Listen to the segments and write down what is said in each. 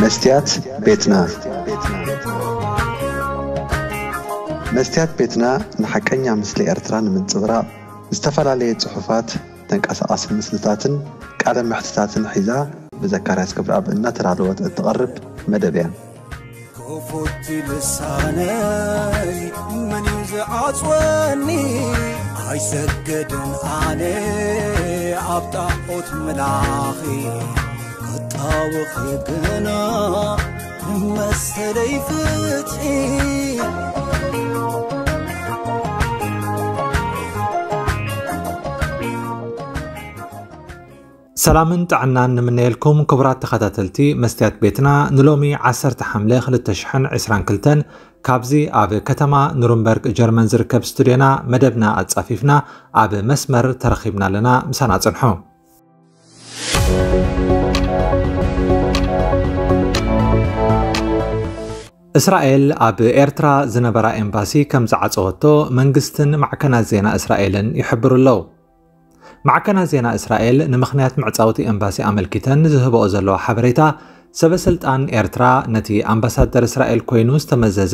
መስትያት ቤትና። መስትያት ቤትና ንሓቀኛ ምስሊ ኤርትራ ንምንጽብራቕ ዝተፈላለየ ጽሑፋት፣ ተንቀሳቓሲ ምስልታትን ቃለ መሕትታትን ሒዛ ብዘካርያስ ገብረኣብ እናተዳለወት እትቐርብ መደብ እያ። ክፉት ልሳነይ መን እዩ ዝዓጽወኒ? ኣይሰግድን ኣነ ኣብ ጣዖት ምላኺ፣ ክጣወኺ ግና መሰለይ ፍትሒ። ሰላምን ጥዕናን ንምነየልኩም ክቡራት ተኸታተልቲ መስትያት ቤትና። ንሎሚ ዓሰርተ ሓምለ ክልተ ሽሕን ዕስራን ክልተን ካብዚ ኣብ ከተማ ኑርንበርግ ጀርመን ዝርከብ ስቱድዮና መደብና ኣጻፊፍና ኣብ መስመር ተረኺብና ኣለና። ምሳና ጽንሑ። እስራኤል ኣብ ኤርትራ ዝነበራ ኤምባሲ ከም ዝዓጸወቶ መንግስትን ማዕከናት ዜና እስራኤልን ይሕብሩ ኣለዉ። ማዕከናት ዜና እስራኤል ንምኽንያት ምዕጻው እቲ ኤምባሲ ኣመልኪተን ዝህብኦ ዘለዋ ሓበሬታ፣ ሰበ ስልጣን ኤርትራ ነቲ ኣምባሳደር እስራኤል ኮይኑ ዝተመዘዘ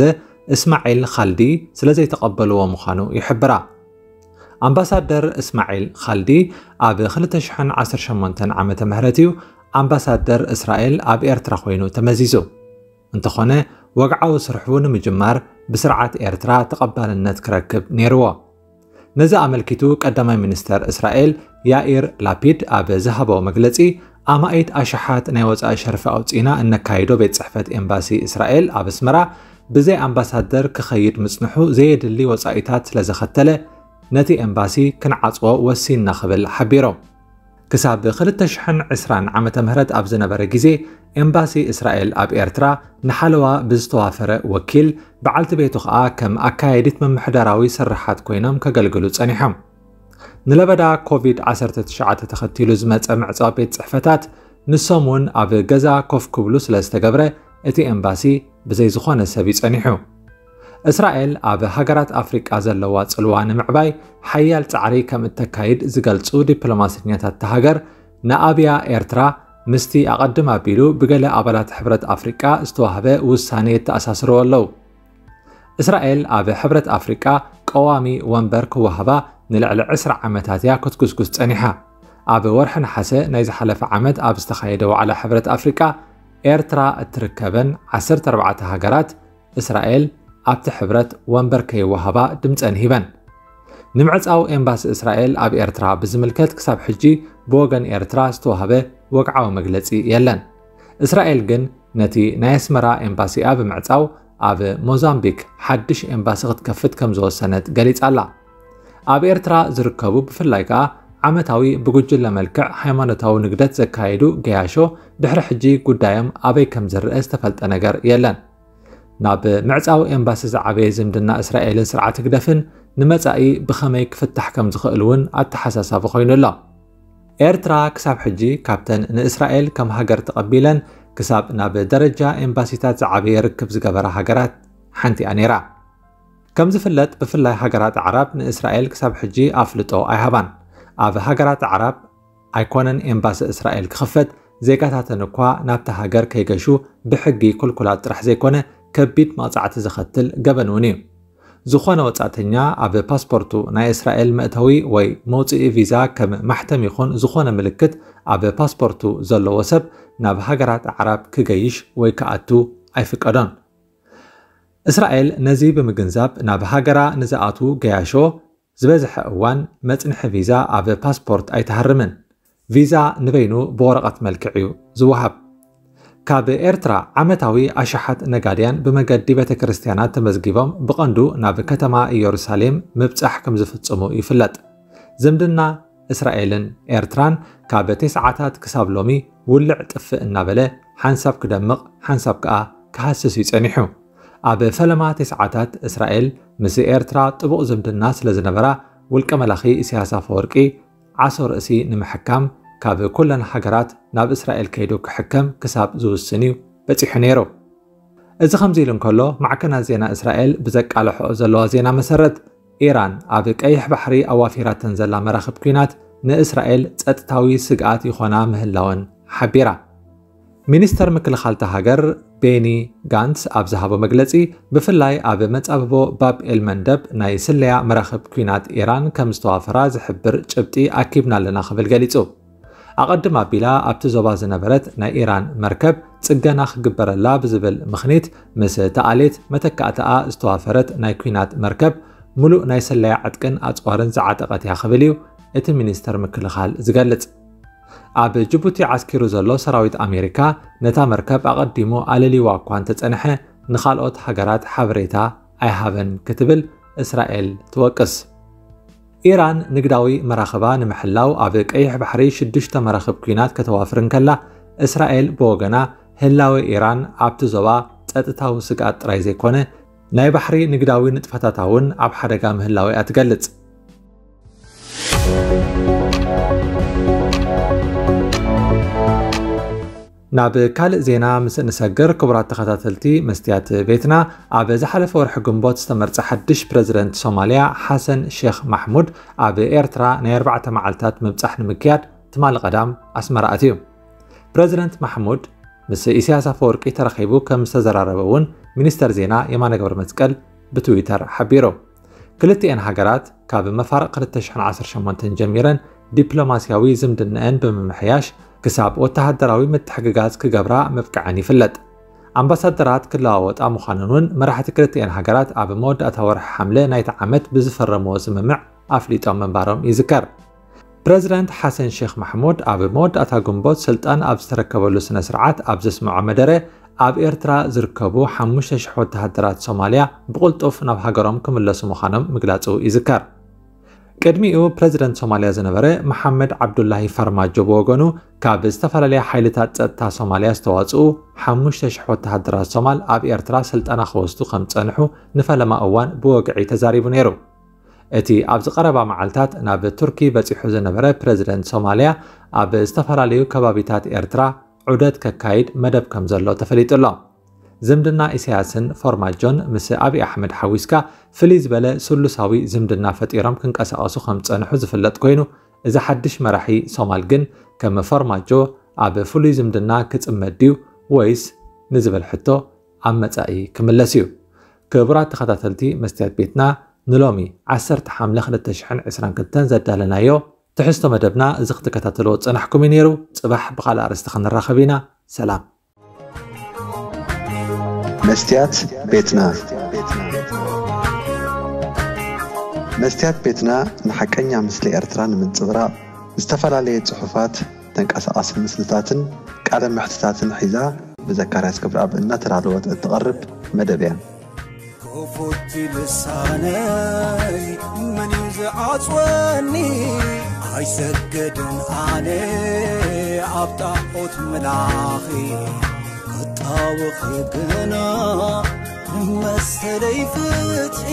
እስማዒል ኻልዲ ስለ ዘይተቐበልዎ ምዃኑ ይሕብራ። ኣምባሳደር እስማዒል ኻልዲ ኣብ ክልተ ሽሕን ዓሰርተ ሸሞንተን ዓመተ ምህረት እዩ ኣምባሳደር እስራኤል ኣብ ኤርትራ ኮይኑ ተመዚዙ። እንተኾነ፣ ወግዓዊ ስርሑ ንምጅማር ብስርዓት ኤርትራ ተቐባልነት ክረክብ ነይርዎ። ነዚ ኣመልኪቱ ቀዳማይ ሚኒስተር እስራኤል ያኢር ላፒድ ኣብ ዝሃቦ መግለጺ፣ ኣማኢት ኣሽሓት ናይ ወጻኢ ሸርፊ ኣውጺእና እነካይዶ ቤት ጽሕፈት ኤምባሲ እስራኤል ኣብ ኣስመራ ብዘይ ኣምባሳደር ክኸይድ ምጽንሑ ዘየድሊ ወጻኢታት ስለ ዘኸተለ፣ ነቲ ኤምባሲ ክንዓጽዎ ወሲንና ክብል ሓቢሮም። ክሳብ ክልተ ሽሕን ዕስራን ዓመተ ምህረት ኣብ ዝነበረ ግዜ፣ ኤምባሲ እስራኤል ኣብ ኤርትራ ንሓለዋ ብዝተዋፈረ ወኪል፣ በዓልቲ ቤቱ ኸኣ ከም ኣካያዲት ምምሕዳራዊ ስርሓት ኮይኖም ከገልግሉ ጸኒሖም። ንለበዳ ኮቪድ ዓሰርተ ትሽዓተ ተኸቲሉ ዝመጸ ምዕጻው ቤት ጽሕፈታት፣ ንሶም እውን ኣብ ገዛ ኮፍ ክብሉ ስለ ዝተገብረ፣ እቲ ኤምባሲ ብዘይ ዝኾነ ሰብ እዩ ጸኒሑ። እስራኤል ኣብ ሃገራት ኣፍሪቃ ዘለዋ ጽልዋ ንምዕባይ ሓያል ጻዕሪ ከም እተካይድ ዝገልጹ ዲፕሎማሰኛታት እታ ሃገር፣ ንኣብያ ኤርትራ ምስቲ ኣቐድም ኣቢሉ ብገለ ኣባላት ሕብረት ኣፍሪቃ ዝተዋህበ ውሳኔ የተኣሳስርዎ ኣለዉ። እስራኤል ኣብ ሕብረት ኣፍሪቃ ቀዋሚ ወንበር ክወሃባ ንልዕሊ ዕስራ ዓመታት እያ ክትጉስጉስ ጸኒሓ። ኣብ ወርሒ ነሓሰ ናይ ዝሓለፈ ዓመት ኣብ ዝተኻየደ ዋዕላ ሕብረት ኣፍሪቃ፣ ኤርትራ እትርከበን ዓሰርተ ኣርባዕተ ሃገራት፣ እስራኤል ኣብቲ ሕብረት ወንበር ከይወሃባ ድምጸን ሂበን። ንምዕጻው ኤምባሲ እስራኤል ኣብ ኤርትራ ብዝምልከት ክሳብ ሕጂ ብወገን ኤርትራ ዝተዋህበ ወግዓዊ መግለጺ የለን። እስራኤል ግን ነቲ ናይ ኣስመራ ኤምባሲኣ ብምዕጻው ኣብ ሞዛምቢክ ሓድሽ ኤምባሲ ክትከፍት ከም ዝወሰነት ገሊጻ ኣላ። ኣብ ኤርትራ ዝርከቡ ብፍላይ ከኣ ዓመታዊ ብጉጅለ መልክዕ ሃይማኖታዊ ንግደት ዘካየዱ ገያሾ ድሕሪ ሕጂ ጉዳዮም ኣበይ ከም ዝረአ ዝተፈልጠ ነገር የለን። ናብ ምዕጻው ኤምባሲ ዝዓበየ ዝምድና እስራኤልን ስርዓት ህግደፍን ንመጻኢ ብኸመይ ክፍታሕ ከም ዝኽእል እውን ኣተሓሳሳቢ ኮይኑ ኣሎ። ኤርትራ ክሳብ ሕጂ ካብተን ንእስራኤል ከም ሃገር ተቐቢለን ክሳብ ናብ ደረጃ ኤምባሲታት ዝዓበየ ርክብ ዝገበራ ሃገራት ሓንቲ እያ ነይራ። ከም ዝፍለጥ፣ ብፍላይ ሃገራት ኣዕራብ ንእስራኤል ክሳብ ሕጂ ኣፍልጦ ኣይሃባን። ኣብ ሃገራት ኣዕራብ ኣይኮነን ኤምባሲ እስራኤል ክኽፈት፣ ዜጋታተን እኳ ናብታ ሃገር ከይገሹ ብሕጊ ክልኩላት ጥራሕ ዘይኮነ፣ ከቢድ መቕጻዕቲ ዘኸትል ገበን እውን እዩ። ዝኾነ ወጻእተኛ ኣብ ፓስፖርቱ ናይ እስራኤል መእተዊ ወይ መውጽኢ ቪዛ ከም ማሕተም ይኹን ዝኾነ ምልክት ኣብ ፓስፖርቱ ዘለዎ ሰብ ናብ ሃገራት ኣዕራብ ክገይሽ ወይ ክኣቱ ኣይፍቀዶን። እስራኤል ነዚ ብምግንዛብ ናብ ሃገራ ንዝኣትዉ ገያሾ ዝበዝሐ እዋን መጽንሒ ቪዛ ኣብ ፓስፖርት ኣይትሃርምን። ቪዛ ንበይኑ ብወረቐት መልክዕ እዩ ዝወሃብ። ካብ ኤርትራ ዓመታዊ ኣሽሓት ነጋድያን ብመገዲ ቤተ ክርስቲያናት ተመዝጊቦም ብቐንዱ ናብ ከተማ ኢየሩሳሌም ምብጻሕ ከም ዝፍጽሙ ይፍለጥ። ዝምድና እስራኤልን ኤርትራን ካብ ተስዓታት ክሳብ ሎሚ ውልዕ ጥፍእ እናበለ ሓንሳብ ክደምቕ ሓንሳብ ከኣ ክሃስስ እዩ ጸኒሑ። ኣብ ፈለማ ተስዓታት እስራኤል ምስ ኤርትራ ጥቡቕ ዝምድና ስለ ዝነበራ ውልቀ መላኺ ኢሳያስ ኣፈወርቂ ዓሶ ርእሲ ንምሕካም ካብ ኩለን ሃገራት ናብ እስራኤል ከይዱ ክሕከም ክሳብ ዝውስን እዩ በጺሑ ነይሩ። እዚ ከምዚ ኢሉ እንከሎ፣ ማዕከናት ዜና እስራኤል ብዘቃልሕኦ ዘለዋ ዜና መሰረት፣ ኢራን ኣብ ቀይሕ ባሕሪ ኣዋፊራተን ዘላ መራኽብ ኲናት ንእስራኤል ጸጥታዊ ስግኣት ይኾና ምህላወን ሓቢራ። ሚኒስተር ምክልኻል እታ ሃገር ቤኒ ጋንትስ ኣብ ዝሃቦ መግለጺ፣ ብፍላይ ኣብ መጻብቦ ባብ ኤል መንደብ ናይ ስለያ መራኽብ ኲናት ኢራን ከም ዝተዋፈራ ዝሕብር ጭብጢ ኣኪብና ኣለና ክብል ገሊጹ። ኣቐድም ኣቢላ ኣብቲ ዞባ ዝነበረት ናይ ኢራን መርከብ ጽገና ክግበረላ ብዝብል ምኽኒት ምስ ተኣሌት መተካእታኣ ዝተዋፈረት ናይ ኲናት መርከብ፣ ምሉእ ናይ ስለያ ዕጥቅን ኣጽዋርን ዝዓጠቐት እያ ክብል እዩ እቲ ሚኒስተር ምክልኻል ዝገልጽ። ኣብ ጅቡቲ ዓስኪሩ ዘሎ ሰራዊት ኣሜሪካ ነታ መርከብ ኣቐዲሙ ኣለልይዋ እኳ እንተጸንሐ፣ ንኻልኦት ሃገራት ሓበሬታ ኣይሃበን ክትብል እስራኤል ትወቅስ። ኢራን ንግዳዊ መራኽባ ንምሕላው ኣብ ቀይሕ ባሕሪ ሽዱሽተ መራኽብ ኲናት ከተዋፍር እንከላ፣ እስራኤል ብወገና ህላወ ኢራን ኣብቲ ዞባ ጸጥታዊ ስግኣት ጥራይ ዘይኮነ፣ ናይ ባሕሪ ንግዳዊ ንጥፈታታ እውን ኣብ ሓደጋ ምህላወ እያ ትገልጽ። ናብ ካልእ ዜና ምስ እንሰግር፣ ክቡራት ተኸታተልቲ መስትያት ቤትና፣ ኣብ ዝሓለፈ ወርሒ ግንቦት ዝተመርጸ ሓድሽ ፕረዚደንት ሶማልያ ሓሰን ሼኽ ማሕሙድ ኣብ ኤርትራ ናይ ኣርባዕተ መዓልታት ምብጻሕ ንምክያድ ትማሊ ቀዳም ኣስመራ ኣትዩ። ፕረዚደንት ማሕሙድ ምስ ኢሳያስ ኣፈወርቂ ተራኺቡ ከም ዝተዘራረበ እውን ሚኒስተር ዜና የማነ ገብረመስቀል ብትዊተር ሓቢሩ። ክልቲኤን ሃገራት ካብ መፋርቕ ክልተ ሽሕን ዓሰርተ ሸሞንተን ጀሚረን ዲፕሎማስያዊ ዝምድናኤን ብምምሕያሽ ክሳብ ወተሃደራዊ ምትሕግጋዝ ክገብራ ምብቅዐን ይፍለጥ። ኣምባሳደራት ክለዋወጣ ምዃነን እውን መራሕቲ ክልቲኤን ሃገራት ኣብ መወዳእታ ወርሒ ሓምለ ናይቲ ዓመት ብዝፈረምዎ ስምምዕ ኣፍሊጦም ምንባሮም ይዝከር። ፕረዚደንት ሓሰን ሼኽ ማሕሙድ ኣብ መወዳእታ ግንቦት ስልጣን ኣብ ዝተረከበሉ ስነ ስርዓት ኣብ ዘስምዖ መደረ፣ ኣብ ኤርትራ ዝርከቡ ሓሙሽተ ሽሕ ወተሃደራት ሶማልያ ብቕልጡፍ ናብ ሃገሮም ክምለሱ ምዃኖም ምግላጹ ይዝከር። ቅድሚኡ ፕረዚደንት ሶማልያ ዝነበረ መሓመድ ዓብዱላሂ ፋርማጆ ብወገኑ፣ ካብ ዝተፈላለያ ሓይልታት ጸጥታ ሶማልያ ዝተዋጽኡ ሓሙሽተ ሽሕ ወተሃደራት ሶማል ኣብ ኤርትራ ስልጠና ክወስዱ ከም ዝጸንሑ ንፈለማ እዋን ብወግዒ ተዛሪቡ ነይሩ። እቲ ኣብዚ ቀረባ መዓልታት ናብ ቱርኪ በጺሑ ዝነበረ ፕረዚደንት ሶማልያ፣ ኣብ ዝተፈላለዩ ከባቢታት ኤርትራ ዑደት ከካይድ መደብ ከም ዘሎ ተፈሊጡ ኣሎ። ዝምድና ኢሳያስን ፎርማጆን ምስ ኣብይ ኣሕመድ ሓዊስካ ፍልይ ዝበለ ስሉሳዊ ዝምድና ፈጢሮም ክንቀሳቐሱ ከም ዝጸንሑ ዝፍለጥ ኮይኑ፣ እዚ ሓድሽ መራሒ ሶማል ግን ከም ፎርማጆ ኣብ ፍሉይ ዝምድና ክጽመድ ድዩ ወይስ ንዝብል ሕቶ ኣብ መጻኢ ክምለስ እዩ። ክቡራት ተኸታተልቲ መስትያት ቤትና፣ ንሎሚ ዓሰርተ ሓምለ ክልተ ሽሕን ዕስራን ክልተን ዘዳለናዮ ትሕዝቶ መደብና እዚ ክትከታተልዎ ዝጸናሕኩም እዩ ነይሩ። ጽባሕ ብኻልእ ኣርእስቲ ክንራኸብ ኢና። ሰላም። መስትያት ቤትና። መስትያት ቤትና ንሓቀኛ ምስሊ ኤርትራ ንምንጽብራቕ ዝተፈላለየ ጽሑፋት፣ ተንቀሳቓሲ ምስልታትን ቃለ መሕትታትን ሒዛ ብዘካርያስ ገብረኣብ እናተዳለወት እትቐርብ መደብ እያ። ክፉት ልሳነይ መን እዩ ዝዓጽወኒ? ኣይሰግድን ኣነ ኣብ ጣዖት ምላኺ፣ ክጣወኺ ግና መሰለይ ፍትሒ።